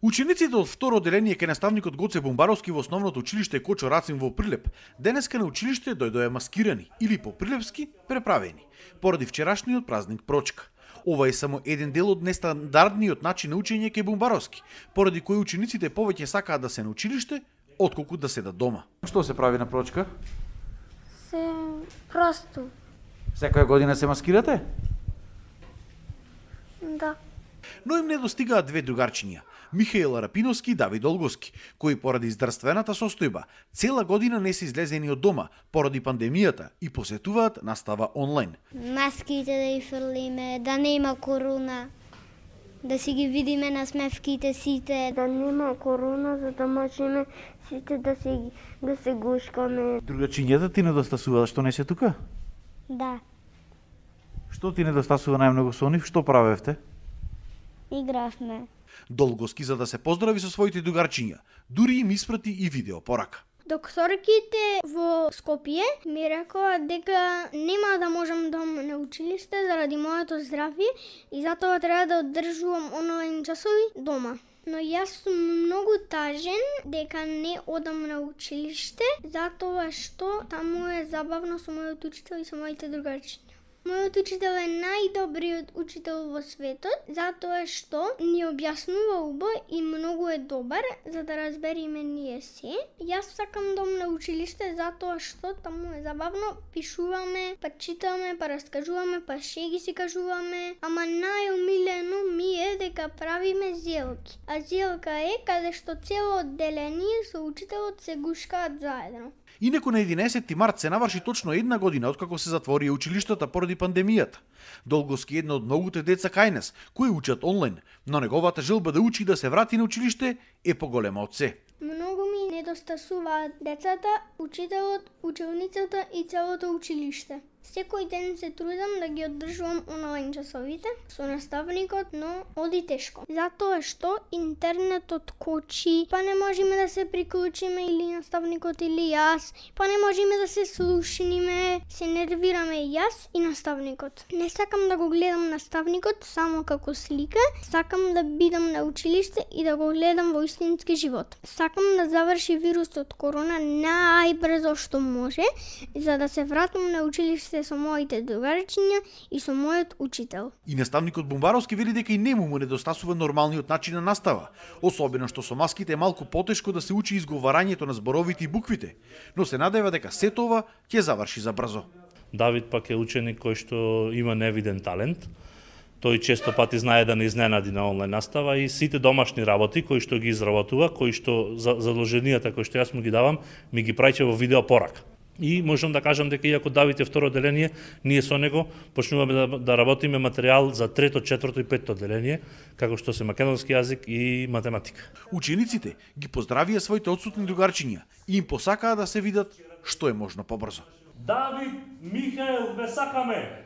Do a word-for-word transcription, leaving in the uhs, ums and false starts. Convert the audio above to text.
Учениците од второ одделение кај наставникот Гоце Бумбаровски во основното училиште Кочо Рацин во Прилеп денеска на училиште дојдоа маскирани или по прилепски преправени, поради вчерашниот празник Прочка. Ова е само еден дел од нестандардниот начин на учење кај Бумбаровски, поради кој учениците повеќе сакаат да се на училиште, отколку да седат дома. Што се прави на Прочка? Се просто. Секоја година се маскирате? Да. Но им не достигаат две другарчиња, Михаил Рапиновски и Давид Олговски, кои поради здравствената состојба цела година не се излезени од дома поради пандемијата и посетуваат настава онлайн. Маските да ги фрлиме, да нема корона, да си ги видиме на смевките сите, да нема корона, за да можеме сите да се да се гушкаме. Другарчињата ти недостасуваат што не се тука? Да. Што ти недостасува најмногу со нив? Што правевте? Игравме. Долговски за да се поздрави со своите другарчиња, дури им испрати и видео порака. Докторките во Скопје ми рекоа дека нема да можам да одам на училиште заради моето здравје и затоа треба да одржувам онлайн часови дома. Но јас сум многу тажен дека не одам на училиште затоа што таму е забавно со мојот учител и со моите другарчиња. Мојот учител е најдобриот учител во светот, затоа што ни објаснува убаво и многу е добар, за да разбериме ние се. Јас сакам да одам на училиште затоа што таму е забавно, пишуваме, па читаме, па раскажуваме, па шеги си кажуваме, ама најомилено ми е дека правиме зелки. А зелка е каде што цело одделение со учителот се гушкаат заедно. Инаку на единаесетти март се наврши точно една година откако се затворија училиштата поради пандемијата. Долговски е едно од многуте деца кај нас, кои учат онлайн, но неговата желба да учи и да се врати на училиште е поголема од се. Многу ми недостасуваат децата, учителот, ученицата и целото училиште. Секој ден се трудам да ги одржувам онлайн часовите со наставникот, но оди тешко. Затоа што интернетот кочи, па не можеме да се приклучиме или наставникот или јас, па не можеме да се слушниме, се нервираме јас и наставникот. Не сакам да го гледам наставникот само како слика, сакам да бидам на училиште и да го гледам во истински живот. Сакам да заврши вирусот корона најбрзо што може, за да се вратам на училиште со моите другарчиња и со мојот учител. И наставникот Бумбаровски вели дека и нему му недостасува нормалниот начин на настава, особено што со маските е малку потешко да се учи изговарањето на зборовите и буквите, но се надева дека сето ова ќе заврши за брзо. Давид пак е ученик кој што има невиден талент. Тој често пати знае да не изненади на онлайн настава и сите домашни работи кои што ги изработува, кои што задолженијата кои што јас му ги давам, ми ги праќа во видео порака. И можам да кажам дека иако Давид е второ одделение, ние со него почнуваме да, да работиме материјал за трето, четврто и петто одделение, како што се македонски јазик и математика. Учениците ги поздравија своите отсутни другарчиња и им посакаа да се видат што е можно побрзо. Давид, Михаел, ве сакаме!